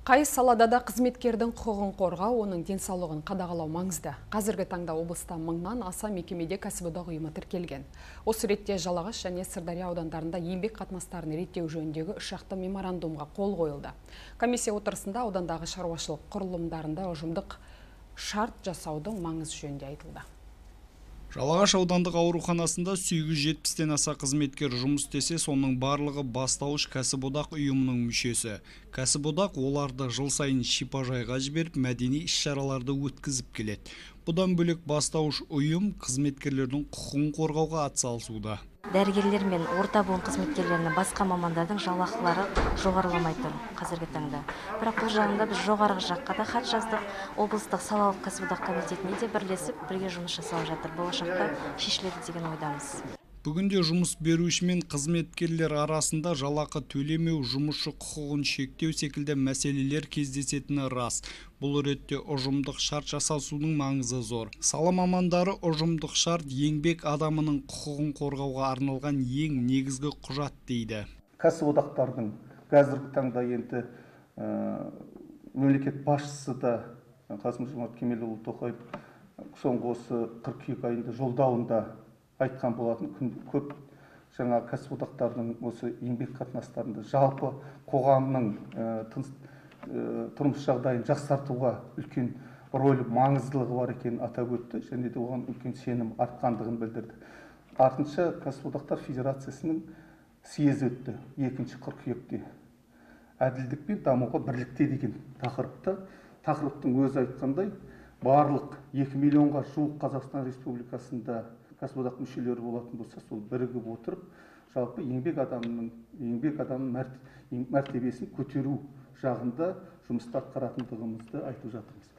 Қай салада да қызметкердің құқығын қорғау, оның денсаулығын қадағалау маңызды. Қазіргі таңда облыста мыңнан аса мекемеде кәсіподақ ұйымы тіркелген. Осы ретте Жалағаш және Сырдария аудандарында еңбек қатынастарын реттеу жөніндегі үшжақты меморандумға қол қойылды. Комиссия отырысында аудандағы шаруашылық құрылымдарында ұжымдық шарт жасаудың маңызы жөнінде айтылды. Жалағаш аудандық ауруханасында 870-тен аса қызметкер жұмыс істесе, соның барлығы бастауыш кәсіподақ ұйымының мүшесі. Кәсіподақ оларды жыл сайын шипажайға жіберіп, мәдени іс-шараларды өткізіп келеді. Бұдан бөлек бастауыш ұйым қызметкерлердің құқығын қорғауға атсалысуда. Дәрігерлер мен орта буын қызметкерлерінің басқа мамандардың жалақылары жоғарыламай тұр қазіргі таңда. Бірақ бұл жағында біз жоғарғы жаққа да хат жаздық. Облыстық салалық кәсіподақ комитетіне де бірлесіп бірге жұмыс жасалып жатыр. Болашақта шешіледі деген ойдамыз. Бүгінде жұмыс беруші мен қызметкерлер арасында жалақы төлемеу, жұмысшы құқығын шектеу секілді мәселелер кездесетіні рас. Бұл ретте ұжымдық шарт жасасудың маңызы зор. Сала мамандары ұжымдық шарт еңбек адамының құқығын қорғауға арналған ең негізгі құжат дейді. Кәсіподақтардың қазіргі таңда енді мемлекет басшысы да Қасым-Жомарт Кемелұлы Тоқаев соңғы осы қыркүйек айында жолдауында айтқан болатын. Көп жаңа кәсіподақтардың осы еңбек қатынастарында жалпы қоғамның тұрмыс жағдайын жақсартуға үлкен рөлі, маңыздылығы бар екенін атап өтті, және де оған үлкен сенім артқандығын білдірді. Артынша кәсіподақтар федерациясының съезі өтті 2 қыркүйекте. Әділдік пен дамуға бірлікте деген тақырыптың өзі айтқандай, барлық 2 миллионға жуық Қазақстан Республикасында кәсіподақ мүшелері болатын болса, сол бірігіп отырып, жалпы еңбек адамның мәртебесін көтеру жағында жұмысты атқаратындығымызды айтып жатырмыз.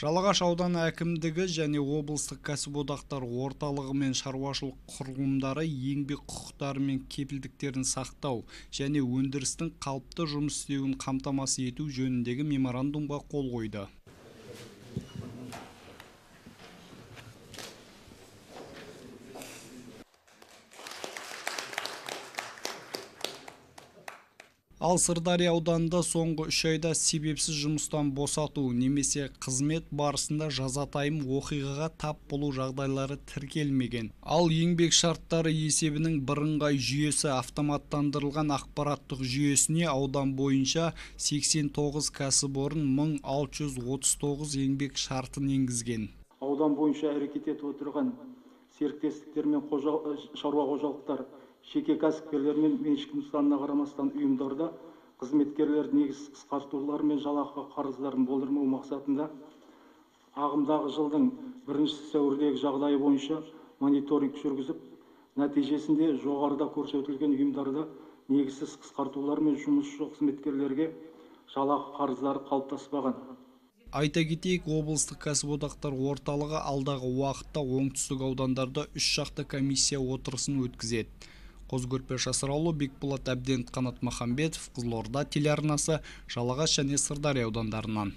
Жалағаш ауданы әкімдігі және облыстық кәсіподақтар орталығы мен шаруашылық құрылымдары еңбек құқықтары мен кепілдіктерін сақтау және өндірістің қалыпты жұмыс істеуін қамтамасыз ету жөніндегі меморандумға қол қойды. Ал Сырдария ауданында соңғы 3 айда себепсіз жұмыстан босату немесе қызмет барысында жазатайым оқиғаға тап болу жағдайлары тіркелмеген. Ал еңбек шарттары есебінің бірыңғай жүйесі автоматтандырылған ақпараттық жүйесіне аудан бойынша 89 кәсіпорын 1639 еңбек шартын енгізген. Аудан бойынша әрекет етіп отырған серіктестіктер мен шаруа қожалықтар, жеке кәсіпкерлер мен меншік нысанына қарамастан ұйымдарда қызметкерлер негізсіз қысқартулар мен жалақы қарыздарын болдырмау мақсатында ағымдағы жылдың 1 сәуірдегі жағдайы бойынша мониторинг жүргізіп, нәтижесінде жоғарыда көрсетілген ұйымдарда негізсіз қысқартулар мен жұмысшы қызметкерлерге жалақы қарыздары қалыптаспаған. Айта кетейік, облыстық кәсіподақтар орталығы алдағы уақытта оңтүстік аудандарда 3 шақты комиссия отырысын өткізеді. Қозы-Көрпеш Асыраулы, Бекболат Әбден, Қанат Махамбетов, Қызылорда телеарнасы, Жалағаш және Сырдария аудандарынан.